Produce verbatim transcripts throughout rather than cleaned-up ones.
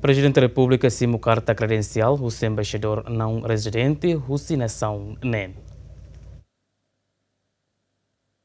Prezidente Repúblika simu karta kredensiál husi embaixadór naun rezidente husi nasaun neen.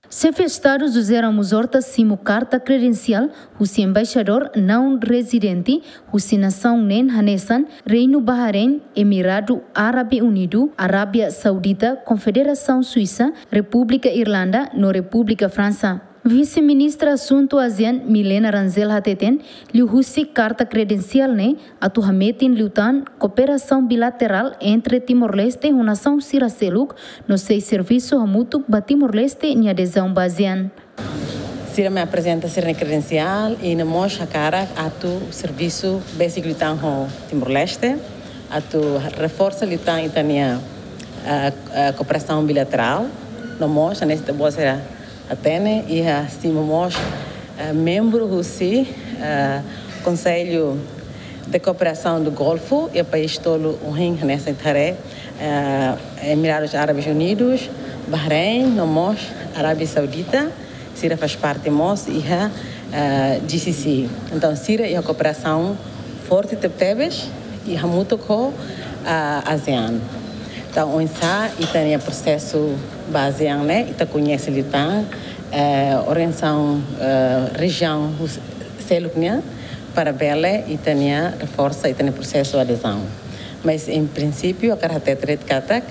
Xefe Estadu José Ramos Horta simu karta kredensiál husi embaixadór naun rezidente husi nasaun neen hanesan Reinu Bahrein, Emiradu Árabe Unidu, Arábia Saudita, Konfederasaun Suisa, Repúblika Irlanda no Repúblika Fransa. Vise-Ministra Asuntu ASEAN Milena Rangel hateten, liuhusi karta kredensiál ne'e atu hametin liután kooperasaun bilaterál entre Timor-Leste ho nasaun sira seluk no sei servisu hamutuk ba Timor-Leste nia adezaun ba ASEAN. Sira mai aprezenta sira-nia kredensiál i no mós hakarak atu servisu besik liután ho Timor-Leste, atu reforsa liután ita-nia, ah, ah, kooperasaun bilaterál, no mós hanesan ita-boot sira hatene, iha simu mós, eh, membru husi, eh, Konsellu de Kooperasaun do Golfu, iha país tolu ohin hanesan ita haree, eh, Emirados Árabes Unidos, Bahrein, no mós Arábia Saudita, sira faz parte mós iha, eh, G C C. Entaun, sira iha kooperasaun forte tebetebes i hamutuk ho, ah, ASEAN. Entaun, oinsá ita-nia prosesu ba ASEAN ne'e, ita koñese liután, eh, organizasaun, eh, rejiaun hus-, seluk nian, para bele ita-nia reforsa ita-nia prosesu adezaun. Mas, em princípio, hakarak hatete de'it katak,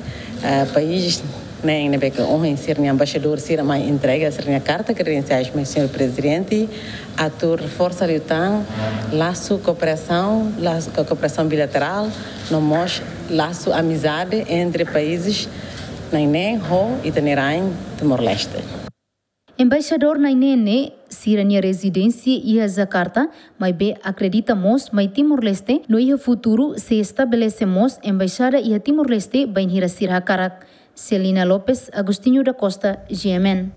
eh, país neen ne'ebé ke ohin sira-nia embaixadór sira mai entrega sira-nia karta kredensiais mai señór Prezidente, atu reforsa liután lasu kooperasaun, lasu ko-, kooperasaun bilaterál, no mós lasu amizade entre países na'in-neen ho ita-nia rain Timor-Leste. Embaixadór na'in-neen ne'e sira-nia rezidénsia iha Jakarta, maibé akredita mós mai Timor-Leste, no iha futuru sei estabelese mós embaixada iha Timor-Leste bainhira sira hakarak. Celina Lopes, Agostinho da Costa, G M N.